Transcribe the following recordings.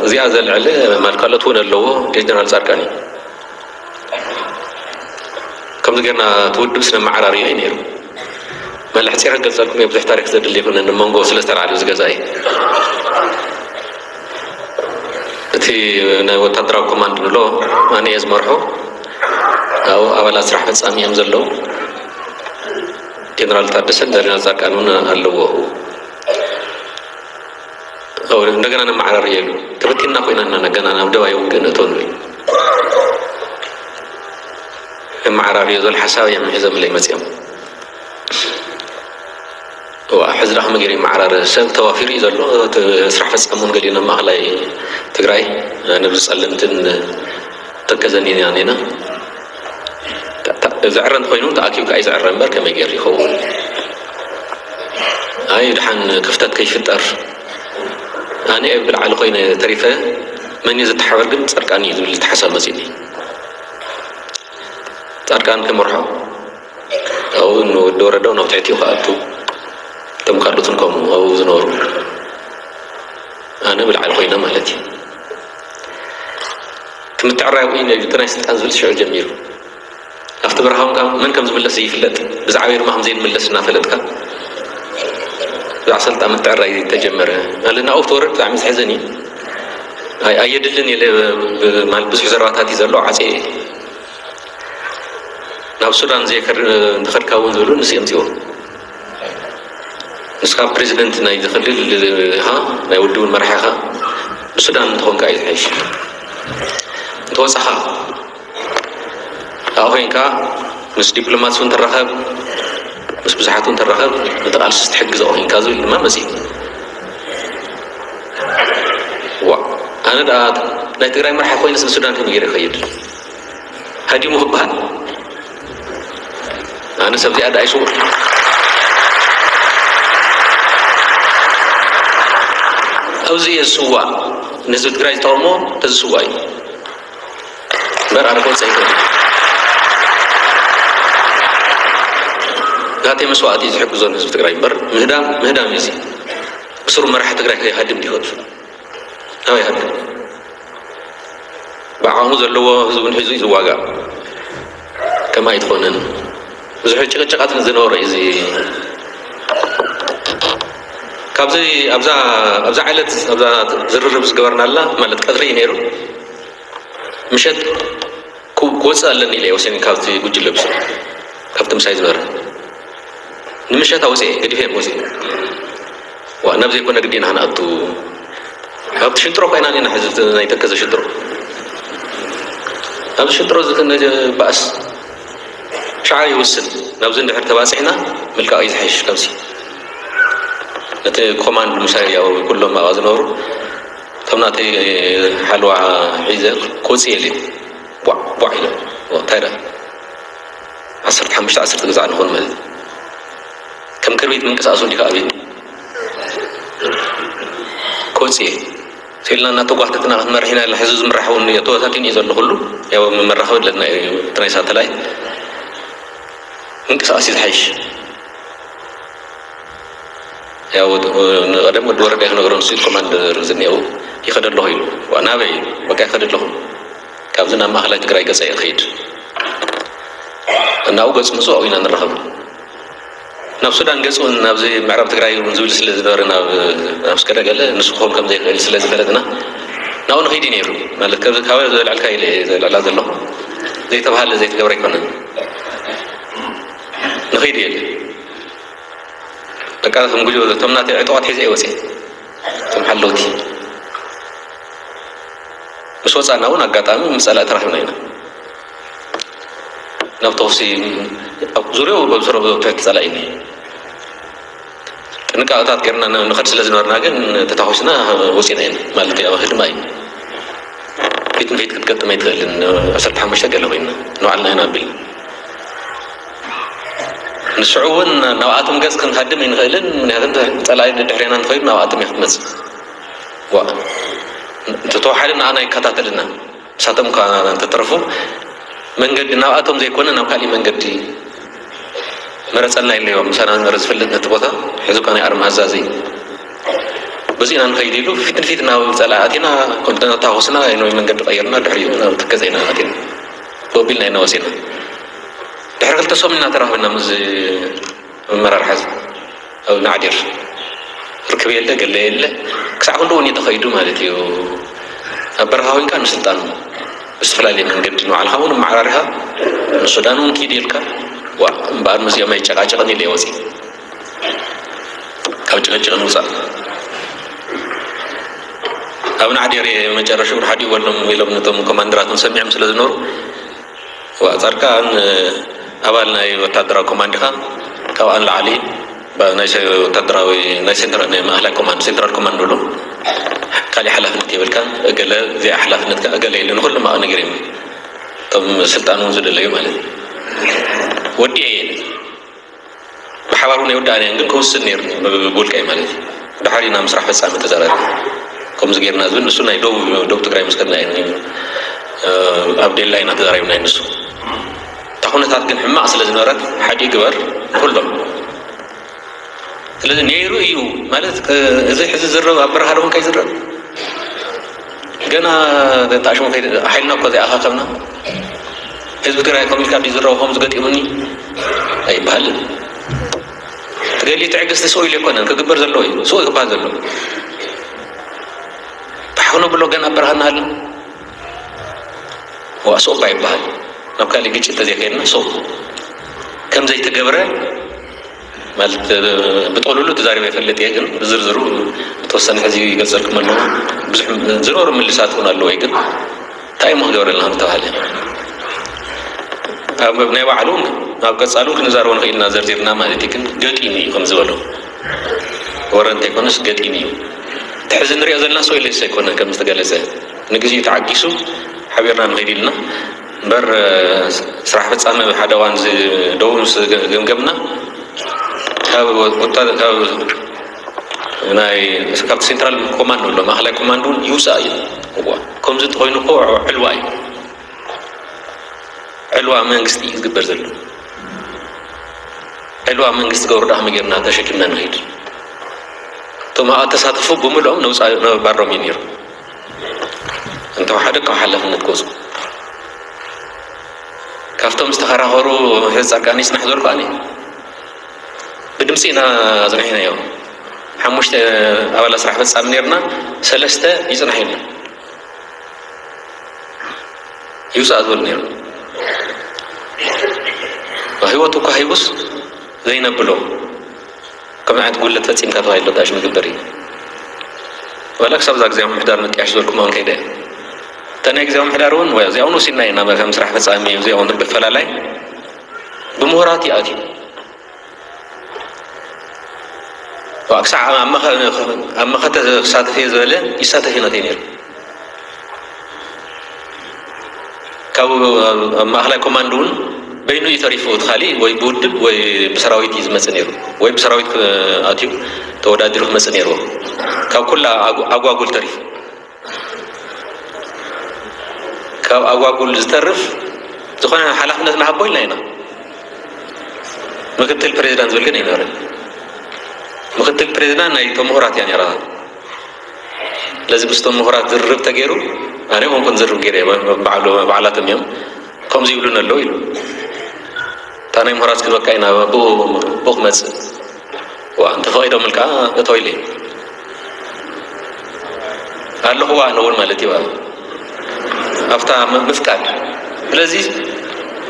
እዚኣ ዘልዕል ማለት ካልኦት እውን ኣለዎ። ጀነራል ፃድቃን እዩ። ከምዚ ጌርና እቲ ውድብ ስነ መዓራርዮ እዩ ነይሩ። መለ ሕፂረ ክገልፀልኩም እየ፣ ብዙሕ ታሪክ ዘድሊ ይኹን፣ ንመንጎ ስለ ዝተላዕለ እዚ ገዛ እዩ። እቲ ናይ ወታደራዊ ኮማንድ ንብሎ ኣነ እየ ዝመርሖ። ኣብኡ ኣባላት ስራሕ ፈፃሚ እዮም ዘለዉ። ጀነራል ታደሰን ጀነራል ፃድቃን እውን ኣለዎ። እንደገና ነመዓራርየሉ። ተበቲንና ኮይና ኢና፣ ገና ናብ ደባይ ውግእ ንእቶ ንብል። ነመዓራርዮ ዝብል ሓሳብ እዮም ሒዞምለይ መፅኦም። እዋ፣ ሕዚ ደኣ ከመይ ገይሩ ይመዓራረ? ሰብ ተዋፊሩ እዩ ዘሎ። እቲ ስራሕ ፈፃሚ እውን ገሊኡ ናብ ማእኸላይ ትግራይ፣ ንብዚ ፀለምትን ተከዘን ኢና ኔና። ታ-፣ ታ-፣ ዝዕረ እንተኾይኑ ተኣኪቡ ከኣ ይዝዕረ እምበር ከመይ ገይሩ ይኸውን? ኣይ፣ ድሓን ክፍተት ከይፍጠር። ኣነ እየ ብላዕሊ ኮይነ ተሪፈ፣ መን እዩ ዝተሓበር ግን ፃድቃን እዩ ዝብል ተሓሳብ መፂኒ። ፃድቃን ክመርሖ፣ ኣብኡ ንወዲ ወረደ ናብ ትሕቲ ክኣቱ፣ እቶም ካልኦትን ከምኡ ኣብኡ ዝነበሩ። ኣነ ብላዕሊ ኮይነ ማለት እዩ። እቲ ምትዕራይ እውን እዩ፣ እቲ ናይ ስልጣን ዝብል ሽዑ ጀሚሩ። ኣብቲ በረኻ እውን ከዓ መን ከም ዝምለስ ዘይፍለጥ፣ ብዛዕባኡ ድማ ከም ዘይንምለስ እናፈለጥካ፣ ብዛዕባ ስልጣን ምትዕራይ ተጀመረ። ማለት ናብኡ ክትወርድ ብጣዕሚ ዘሕዝን እዩ። ኣይ-፣ ኣየድልን ኢለ ብ-፣ ማለት ብዙሕ ዘረባታት እዩ ዘሎ፣ ዓፅየ። ናብ ሱዳን ዘይከድ-፣ እንተኸድካ እውን ዝብሉ ንስ የምፅዎ። ንስካ ፕሬዚደንት ናይ ዝኽልል ኢኻ፣ ናይ ውድብን መራሒ ኢኻ፣ ንሱዳን እንተኾንካ እዩ ዝሓይሽ። እንተወፃኻ፣ ኣብኡ ኮይንካ ምስ ዲፕሎማት እውን ትራኸብ፣ ምስ ብዙሓት እውን ትራኸብ፣ ነቲ ቃልሲ ትሕግዞ ኮይንካ ዝብል ድማ መፂኡ። ዋ፣ ኣነ ደኣ ናይ ትግራይ መራሒ ኮይነስ ንሱዳን ከመይ ገይረ ይኸይድ? ሃዲሙ ክበሃል? ኣነ ሰብ እዚኣ ደኣ ይስውር። ኣብዚ እየ ዝስዋእ፣ ንህዝቢ ትግራይ ዝጠቕሞ ተዝስዋእ እዩ። እምበር ኣነ ክወፅእ ኣይክእልን። ናተይ መስዋእቲ እዩ ዝሕግዞ ንህዝቢ ትግራይ እምበር ምህዳም፣ ምህዳም እዩ እዚ። ብስሩ መራሒ ትግራይ ከይሃድም ድዩ ክወፅእ? ናበይ ይሃድም? ብዓቕሙ ዘለዎ ህዝቡን ሒዙ እዩ ዝዋጋእ። ከምኣ ኣይትኾንን። ብዙሕ ጭቕጭቓት ዝነበሮ እዩ እዚ። ካብዚ ኣብዛ፣ ኣብዛ ዕለት ኣብዛ ዝርርብ ዝገበርናላ ማለት ቀትሪ እዩ ነይሩ። ምሸት ክው-፣ ክወፅእ ኣለኒ ኢለ ወሲነ ካብቲ ጉጅለ ብስሩ፣ ካብቲ ምሳይ ዝበረ። ንምሸት ኣውፅኤ፣ ገዲፈ ወፂኤ። ዋ፣ ናብ ዘይኮነ ግዲ ኢና ክንኣቱ። ኣብቲ ሽንጥሮ ኮይና ኢና ሕዚ ናይ ተከዘ ሽንጥሮ። ኣብዚ ሽንጥሮ እዚ ክነ-፣ ባእስ ሻዕ ይውስን። ናብዚ እንድሕር ተባፂሕና ምልቃቕ እዩ ዝሓይሽ ካብዚ። ነቲ ኮማንድ ምሳይ ያው ኩሎም ኣብኣ ዝነበሩ፣ እቶም ናተይ ሓለዋ ሒዘ ክወፅእ የልዩ። ቧዕ፣ ቧዕ ኢሎም። እንታይ ደኣ? ዓሰርተ ሓሙሽተ ዓሰርተ ግዛዕ ንኾን ማለት እዩ። ከም ክርቢት ምንቅስቃስ እንዲካ ኣቤት። ክወፅእ እየ። ኢልና እናተጓተትና ክንመርሕ ኢና። ሕዚ ዝምራሕ እውን ተበታቲኑ እዩ ዘሎ ኩሉ። ያው መራኸቢ ኣለና እዩ፣ እቲ ናይ ሳተላይት። ምንቅስቃስ እዩ ዝሓይሽ። ያው ንቐደም ወዲ ወረደ ክነግሮ ንሱ ኮማንደር ዝኔው ይኸደ ኣለኹ ኢሉ። ዋ፣ ናበይ? በቃ ይኸደ ኣለኹ። ካብዚ ናብ ማእኸላይ ትግራይ ገፀ ይኸይድ። እናብኡ ገፁ ምፅኡ ኣብኡ ኢና ንራኸብ። ናብ ሱዳን ገፁ እውን ናብዚ ምዕራብ ትግራይ እውን ዝብል ስለ ዝነበረ ናብ፣ ናብ ስከደ ገለ ንሱ ክኸውን ከም ዘይኽእል ስለ ዝፈለጥና ናብኡ ንኸይድ እዩ ነይሩ። ማለት ከዚ ካብ ዘልዕልካ ኢለ እየ ዘልዕላ ዘለኹ። ዘይተባሃለ ዘይተገብረ ኣይኮነን። ንኸይድ እየ ኢለ። በቃ ከም ጉጅለ እቶም ናተይ ዕጡቓት ሒዘ እየ ወፅየ። እቶም ሓለውቲ ምስ ወፃና እውን ኣጋጣሚ ምስ ፀላኢ ተራኺብና ኢና። ናብ ተኹሲ ኣብ ዙርያኡ በብስሮ ትሕቲ ፀላኢ እኒሀ። ጥንቃቐታት ገይርና ን-፣ ንኸድ ስለ ዝነበርና ግን ተታኹስና ወፂና ኢና። ማለት ያው ህድማ እዩ። ፊት ንፊት ክትገጥም ኣይትኽእልን። ዓሰርተ ሓሙሽተ ገለ ኮይና ንባዕልና ኢና ኣቢልና። ንስዑ እውን ናብኣቶም ገፅ ክንሃድም ኣይንኽእልን፣ ምክንያቱ እንተ ፀላኢ ድሕሬና እንተኸይዱ ናብኣቶም እያ ክትመፅእ። ዋ፣ እንተተዋሓደ ንኣና ይከታተልና። ንሳቶም እኳ እንተተረፉ መንገዲ ናብኣቶም ዘይኮነ ናብ ካሊእ መንገዲ መረፀልና ኢለዮም። ምሳና ዝነበረ ዝፈልጥ ነቲ ቦታ ሕዚ እኳ ናይ ኣርማ ኣዛዚ በዚ ኢና ንኸይድ ኢሉ ፊት ንፊት ናብ ጸላኢ ኣቲና፣ ኮንተነር ተሃወስና፣ ናይ መንገዲ ቀይርና፣ ድሕሪኡ ናብ ትከዘ ኢና ኣቲና። ቦቢልና ኢና ወሲና። ድሕሪ ክልተ ሰሙን ኢና ተራኺብና ምስ ኣመራርሓ እዚ ኣብ ናዕዲር። ርክብ የለ፣ ገለ የለ። ክሳዕ ክንድኡ እውን እዩ ተኸይዱ ማለት እዩ። ኣብ በረኻ ኮይንካ ንስልጣን ብዝተፈላለየ መንገዲ ንባዕልኻ እውን ኣመዓራሪኻ ንሱዳን እውን ኪድ ኢልካ፣ ዋ፣ እምበኣር ምስዚኦም ኣይጨቃጨቕን ኢለ እየ ወፂእ። ካብ ጭቕጭቕ ንውፃእ። ኣብ ናዕዴር መጨረሽኡ ሓዲኡ በሎም ኢሎም ነቶም ኮማንደራት ሰሚዖም ስለ ዝነበሩ፣ ዋ፣ ጻድቃን ኣባል ናይ ወታደራዊ ኮማንድ ኢኻ፣ ካብኣ ንላዕሊ ባ-፣ ናይ ሰ-፣ ወታደራዊ ናይ ሴንትራ-፣ ናይ ማእኸላይ ኮማንድ፣ ሴንትራል ኮማንድ ብሎ፣ ካሊእ ሓላፍነት የብልካን፣ እገለ እዚኣ ሓላፍነትካ እገለ ኢሉ ንኹሎም ኣቐ ነጊሮም እዮም። እቶም ስልጣን እውን ዝደለዩ ማለት እዩ። ወዲኤ እየ። ብሓባር እውን የወዳእናየን፣ ግን ክውስን ነይሩ ብውልቀይ ማለት እዩ። ድሓር ኢና ምስራሕ ፈጻሚ ተዛራቢ። ከምዚ ጌርና ዝብል ንሱ ናይ ደቡብ፣ ደቡብ ትግራይ ምስ ከድና እዩ፣ እ፣ ኣብ ዴላ ኢና ተዛራቢና እዩ ንሱ። እታ ኩነታት ግን ሕማቕ ስለ ዝነበረት፣ ሓደ ግበር ንኹሎም። ስለዚ ነይሩ እዩ ማለት፣ እ፣ እዚ ሕዚ ዝረብ ኣብ በረኻ ዶ ኮንካ ይዝረብ? ገና ተኣሽሙ ከይድ-፣ ሓይልና እኮ ዘይኣኻኸብና። ህዝቢ ትግራይ ከም ኢልካ ድዩ ዝረብ፣ ከምዚ ገጢሙኒ ኣይበሃልን። ትገሊ ትዕግስቲ ስቕ ኢሉ ኣይኮነን ክግበር ዘለዎ እዩ፣ ስቕ ክበሃል ዘለዎ። ባሕ ክነብሎ ገና ኣብ በረኻ እናሃለና። ዋ፣ ስቕ እባ ይበሃል። ናብ ካሊእ ግጭት ተዘይከይድና ስቕ። ከም ዘይተገብረ ማለት፣ ብጥቕልሉ ተዛሪበ ይፈልጥ እየ፣ ግን ብዝርዝሩ ብተወሰነ ሕዚ ይገልጸልኩም ኣለኹ። ብዙሕ ዝኖሩ ምልሳት እውን ኣለዎ እዩ፣ ግን እንታይ እሞ ክገብረልና ከም ዝተባህለ ኣብ ናይ ባዕሉ ኣብ ቀጻሉ ክንዛረቦ ንኽእል ኢና ዘርዚርና ማለት እዩ። ግን ገጢሙ እዩ ከም ዝበሎ ወረ እንተይኮነስ ገጢሙ እዩ። እቲ ሕዚ ንሪኦ ዘለና ሰው ኢለስ ኣይኮነን ከም ዝተገለጸ ንግዜኡ ተዓጊሱ ሓቢርና ንኸይድ ኢልና እምበር፣ ስራሕ ፈጻሚ ሓደ እዋን እዚ ደቡብ ምስ ገምገምና ካብ ወታ-፣ ካብ ናይ፣ ካብቲ ሴንትራል ኮማንድ ኣሎ፣ ማእኸላይ ኮማንድ እውን ይውፃእ እዩ። እዋ፣ ከምዚ እንተኾይኑ እኮ ዕልዋ እዩ። ዕልዋ መንግስቲ እዩ ዝግበር ዘሎ። ዕልዋ መንግስቲ ገብሩ ደኣ ከመይ ጌርና ተሸኪምና ንኸይድ? እቶም ኣብኣ ተሳተፉ ብምልኦም ነውፃ-፣ ነባሮም እዩ ነይሩ። እንተወሓደ ካብ ሓላፍነት ክወፁ። ካብቶም ዝተኸራኸሩ ጻድቃን ይጽናሕ ዝበልኩ ኣነ ብድምጺ ኢና ኣጽኒሕናዮ። ሓሙሽተ ኣባላት ስራሕ ፈጻሚ ነርና፣ ሰለስተ ይጽናሕ ኢልና። ይውጻእ ዝበሉ ነይሩ። ህይወቱ እኳ ሂቡስ ዘይነብሎ። ከምዚ ዓይነት ጉድለት ፈጺምካ ተባሂሉ ጣሽ ምግበር እዩ። ዋላ ክሳብ እዛ ግዜያዊ ምምሕዳር ምጥያሽ ዝበልኩሞ እውን ከይደ እየ። እታ ናይ ግዜያዊ ምምሕዳር እውን፣ ወይ እዚኣ እውን ወሲድና ኢና፣ ከም ስራሕ ፈጻሚ እዚኣ እውን ብፈላላይ ብምሁራት እዩ ኣትዩ። ዋ፣ ክሳዕ ኣብ መኸ-፣ ኣብ መኸተ ክሳተፍ እየ ዝበለ ይሳተፍ እዩ ናተይ ነይሩ። ካብ ኣብ ማእኸላይ ኮማንድ እውን በይኑ እዩ ተሪፉ። እቲ ካሊእ ወይ ብውድብ ወይ ብሰራዊት እዩ ዝመጽእ ነይሩ፣ ወይ ብሰራዊት ክ-፣ ኣትዩ ተወዳዲሩ ክመጽእ ነይርዎ። ካብ ኩላ ኣጉ-፣ ኣጓጉል ተሪፉ። ካብ ኣጓጉል ዝተርፍ ዝኾነ ሓላፍነት ንሃቦ ኢልና ኢና። ምክትል ፕሬዚዳንት ዝብል ግን ኣይነበረን። ምክትል ፕሬዚዳንት ናይ እቶም ምሁራት እያ ነይራ። ስለዚ ምስቶም ምሁራት ዝርርብ ተገይሩ፣ ኣነ ኮንኩን ዝርርብ ገይረ፣ ባዕሉ፣ ባዕላቶም እዮም ከምዚ ይብሉን ኣለዉ ኢሉ። እታ ናይ ምሁራት ክንበካ ኢና፣ ብኡ፣ ብኡ ክመጽእ። ዋ፣ እንተፈቒዶምልካ እቶ ኢለ። ኣለኹዋ ኣነ እውን ማለት እዩ። ኣብታ ም-፣ ምፍቃድ። ስለዚ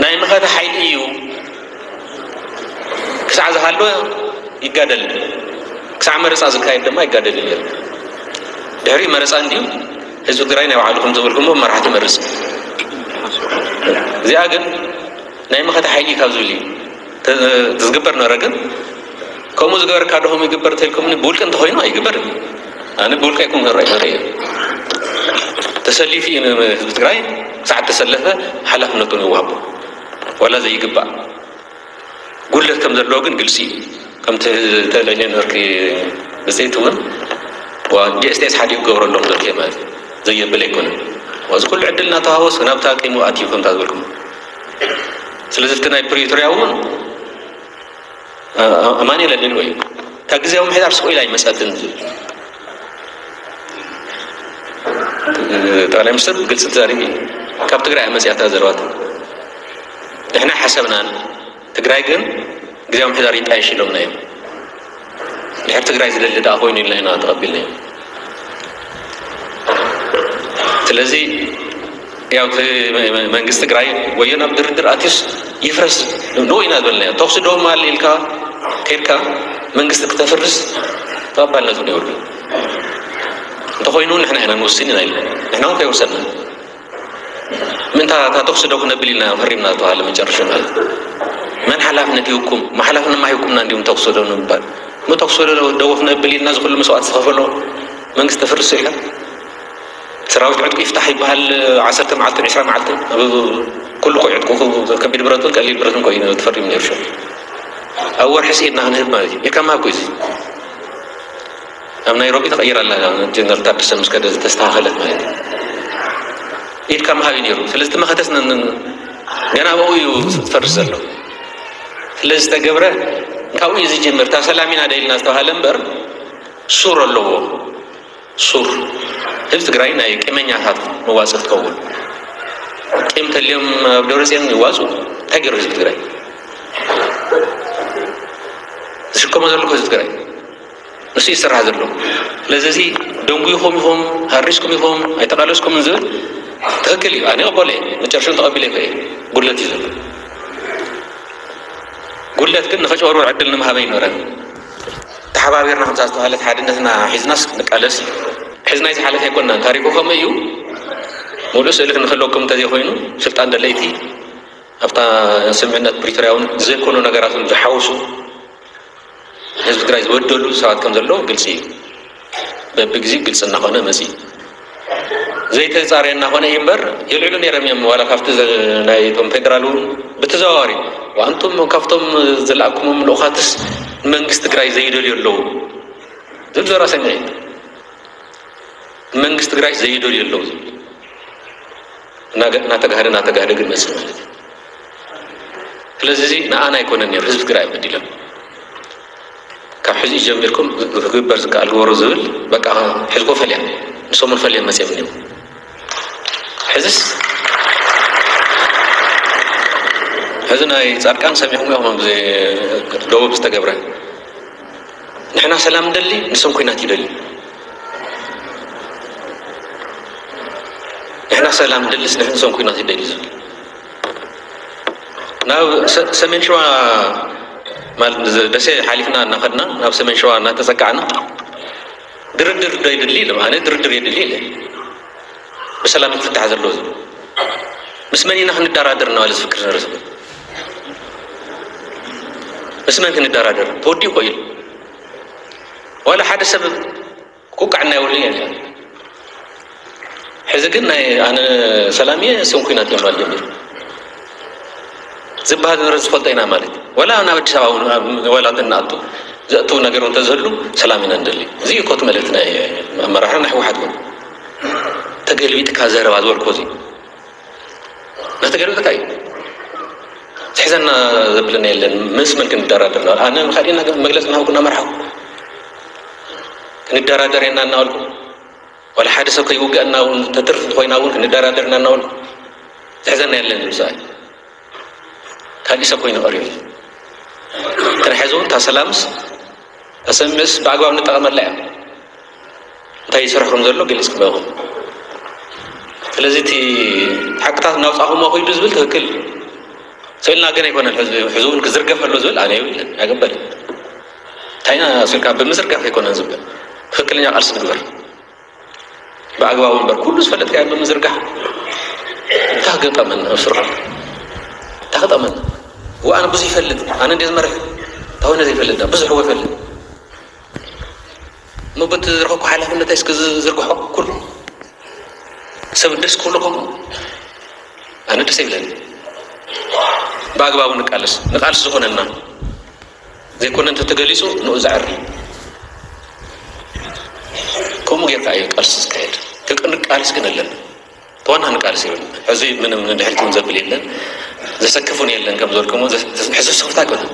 ናይ መኸተ ሓይሊ እዩ። ክሳዕ ዝሃሎ ይጋደል። ክሳዕ መረጻ ዝካየድ ድማ ይጋደል እዩ። ድሕሪ መረጻ እንድዩ ህዝቢ ትግራይ ናይ ባዕሉ ከም ዝበልኩሞ መራሕቲ ይመርጽ። እዚኣ ግን ናይ መኸተ ሓይሊ ካብ ዝብል እዩ። ተ-፣ ዝግበር ነበረ። ግን ከምኡ ዝገበርካ ዶ ከምኡ ይግበር እንተልኩምኒ፣ ብውልቂ እንተኾይኑ ኣይግበርን። ኣነ ብውልቂ ኣይኮን ክርኢ፣ ክርኢ። ተሰሊፉ እዩ ንህዝቢ ትግራይ፣ ክሳዕ ተሰለፈ ሓላፍነቱ ንወሃቦ። ዋላ ዘይግባእ ጉድለት ከም ዘለዎ ግን ግልፂ እዩ። ከምቲ ተለየ ነበርኪ ብፅይቲ እውን፣ ዋ፣ ዲ ኤስ ቲ ኤስ ሓዲኡ ክገብረሎም ዘርክየ ማለት እዩ። ዘየብል ኣይኮነን። እዚ ኩሉ ዕድል እናተዋወስ ናብታ ቂሙ ኣትዩ ከምታ ዝበልኩም። ስለዚ እቲ ናይ ፕሪቶርያ እውን፣ ኣ-፣ ኣ-፣ ኣማኑኤል ኣድልዎ እዩ። እታ ግዜያዊ ምምሕዳር ስቕ ኢላ ኣይመጸትን ዝብል። ጠቅላይ ሚኒስትር ብግልፂ ተዛሪቡ እዩ። ካብ ትግራይ መፅያታ ዘረባቱ ንሕና ሓሰብናን ትግራይ ግን ግዜያዊ ምሕዳር ይጣየሽ ኢሎምና እዮም። ድሕር ትግራይ ዝደሊ ደኣ ኮይኑ ኢልና ኢና ተቐቢልና እዩ። ስለዚ ያው እቲ መንግስቲ ትግራይ ወዮ ናብ ድርድር ኣትዩስ ይፍረስ ንኡ ኢና ዝበልናዮ። ተኩሲ ደው ማል ኢልካ ከይድካ መንግስቲ ክተፍርስ ተቐባልነት እውን የብሉ። እንተኮይኑ ንሕና ኢና ንውስን ኢና ኢሉ ንሕና እውን ከይወሰና ምንታ እታ ተኩሲ ደው ክነብል ኢልና ፈሪምና ዝተባሃለ መጨረሻ ማለት መን ሓላፍነት ይህኩም ሓላፍነት ማሂኩምና እንዲሁም ተኩሲ ደው ንምባል ሞ ተኩሲ ደው ክነብል ኢልና ዝኩሉ መስዋዕት ዝኸፈሎ መንግስቲ ተፍርስ ኢልካ ሰራዊት ዕጥቁ ይፍታሕ ይበሃል። ዓሰርተ መዓልትን ዕስራ መዓልትን ኩሉ ኮ ዕጥቁ ከቢድ ብረትን ቀሊል ብረትን ኮ እዩ ተፈሪሙ ነይሩ። ኣብ ወርሒ ስኢድና ክንህብ ማለት እዩ። ኢልካ ምሃብ ኮ እዚ ኣብ ናይሮቢ ተቐይራ ኣላ። ጀነራል ታደሰ ምስ ከደ ዝተስተኻኸለት ማለት እዩ። ኢድካ ምሃብ እዩ ነይሩ። ስለዚ እቲ መኸተስ ገና ኣብኡ እዩ ዝፈርስ ዘሎ። ስለዚ ዝተገብረ ካብኡ እዩ ዝጅምር። እታ ሰላም ኢና ደኢልና ዝተባሃለ እምበር ሱር ኣለዎ። ሱር ህዝቢ ትግራይ ናይ ቂመኛታት መዋፅእ ክትከውን ቂም ተልዮም ኣብ ደብረፅዮን ይዋፁ እንታይ ገይሩ ህዝቢ ትግራይ ዝሽከሞ ዘሎ ህዝቢ ትግራይ ንሱ ይስራሕ ዘሎ ስለዚ እዚ ደንጉይኹም ኢኹም ሃሪስኩም ኢኹም ኣይተቃለስኩምን ዝብል ትክክል እዩ ኣነ ይቅበሎ እየ መጨረሽን ተቀቢለ ይኸ ጉድለት እዩ ዘሎ ጉድለት ግን ንኸጨወርወር ዕድል ንምሃበ ይኖረን ተሓባቢርና ከምዛ ዝተባሃለት ሓድነትና ሒዝናስ ንቃለስ እዩ ሕዚ ናይ ዝሓለፈ ኣይኮንናን ታሪኩ ከምኡ እዩ ሙሉእ ስእሊ ክንክለኩም እንተዘይኮይኑ ስልጣን ደለይቲ ኣብታ ስምምዕነት ፕሪቶርያ እውን ዘይኮኑ ነገራት ዝሓውሱ ህዝቢ ትግራይ ዝበደሉ ሰባት ከም ዘለዉ ግልፂ እዩ በብግዜኡ ግልፂ እናኾነ መፂ ዘይተፃረየ እናኾነ እዩ እምበር የልዕሉ ነይሮም እዮም ዋላ ካብቲ ናይቶም ፌደራል እውን ብተዘዋዋሪ ኣንቱም ካብቶም ዝለኣኩሞም ልኡኻትስ ንመንግስቲ ትግራይ ዘይደልዩ ኣለዉ ዝብል ዘራ ሰሚዐ መንግስቲ ትግራይ ዘይደልዩ ኣለዉ ዝብል እናተጋህደ እናተጋህደ ግን መፅእ ማለት እዩ ስለዚ እዚ ንኣና ኣይኮነን ነይሩ ህዝቢ ትግራይ በዲሎም ካብ ሕዚ ጀሚርኩም ክግበር ዝከኣል ግበሩ ዝብል በቃ ሕዝኮ ፈልያ ንሰሙን ፈልያ መፅኦም እዮም ሕዝስ ሕዚ ናይ ፃድቃን ሰሚዕኩም ኢኹም ደቡብ ዝተገብረ ንሕና ሰላም ንደሊ ንሶም ኩናት ይደልዩ ንሕና ሰላም ንደልስ ንሕንሶም ኩናት ይደልዩ ዝብል ናብ ሰሜን ሸዋ ማለት ደሴ ሓሊፍና እናኸድና ናብ ሰሜን ሸዋ እናተፀጋዕና ድርድር ዶ ይድሊ ኢለ ኣነ ድርድር የድሊ ኢለ ብሰላም ክፍታሕ ዘለዎ ዝብል ምስ መን ኢና ክንደራደር እናባለ ዝፍክር ዝነበረ ሰብ ምስ መን ክንደራደር ተወዲኡ ቆይሉ ዋላ ሓደ ሰብ ክውቃዕ እናይብሉ የለን ሕዚ ግን ናይ ኣነ ሰላም እየ እሶም ኩናት እዮም ባል ጀሚሩ ዝበሃል ንረ ዝፈልጦ ኢና ማለት እዩ ወላ ናብ ኣዲስ ኣበባ ወላ ተናኣቱ ዘእትው ነገር እውን ተዝህሉ ሰላም ኢና ንደሊ እዚ ኮት መልእክቲ ናይ ኣመራርሓ ናይ ህወሓት እውን ተገልቢጥካ ዘረባ ዝበልኮ እዚ ናተገልብጥካ እዩ ዝሕዘና ዘብለና የለን ምስ መን ክንደራደር ኣነ ካልእና መግለፂ ናሃብኩ እናመርሓኩ ክንደራደር የና እናበልኩ ዋላ ሓደ ሰብ ከይውገአና እውን ተትርፍ ኮይና እውን ክንደራደር እና እናበልኩ ዝሕዘና የለን ዝብሰኣል ካልእ ሰብ ኮይኑ ቀሪቡ ተረሐዚ እውን እታ ሰላምስ እታ ሰምዕስ ብኣግባብ ንጠቐመላ እያ እንታይ ይሰርሕ ከም ዘሎ ገሊፅ ክበኹም ስለዚ እቲ ሓቅታት እናውፃኹሞ ከይዱ ዝብል ትክክል ስእልና ግን ኣይኮነን ሕዚ እውን ክዝርገፍ ኣሎ ዝብል ኣነ ይብልን ኣይቅበልን እንታይና ስልካ ብምዝርጋፍ ኣይኮነን ዝብል ትክክለኛ ቃልሲ ንግበር ብኣግባቡ እምበር ኩሉ ዝፈለጥካ ብምዝርጋሕ እንታይ ገጠመን ኣብ ስርሑ እንታይ ገጠመን ዋኣነ ብዙ ይፈልጥ ኣነ እንደ ዝመርሕ ታወነ ዘይፈልጥ ብዙሕ ይፈልጥ እሞ በቲ ዝረኸብኩ ሓላፍነተይ እስከ ዝዝርግሖ ኩሉ ሰብ ደስ ክብሎ ከምኡ ኣነ ደስ ይብለኒ ብኣግባቡ ንቃለስ ንቃልስ ዝኾነና ዘይኮነ እንተተገሊፁ ንኡ ዘዕሪ ከምኡ ጌርካ እዩ ቃልሲ ዝካየድ ንቃልስ ግን ኣለና ተዋና ንቃልስ ይብል ሕዚ ምንም ንድሕሪት እውን ዘብል የለን ዘሰክፍ እውን የለን ከም ዝበልኩሞ ሕዚ ስኽፍታ ኣይኮነን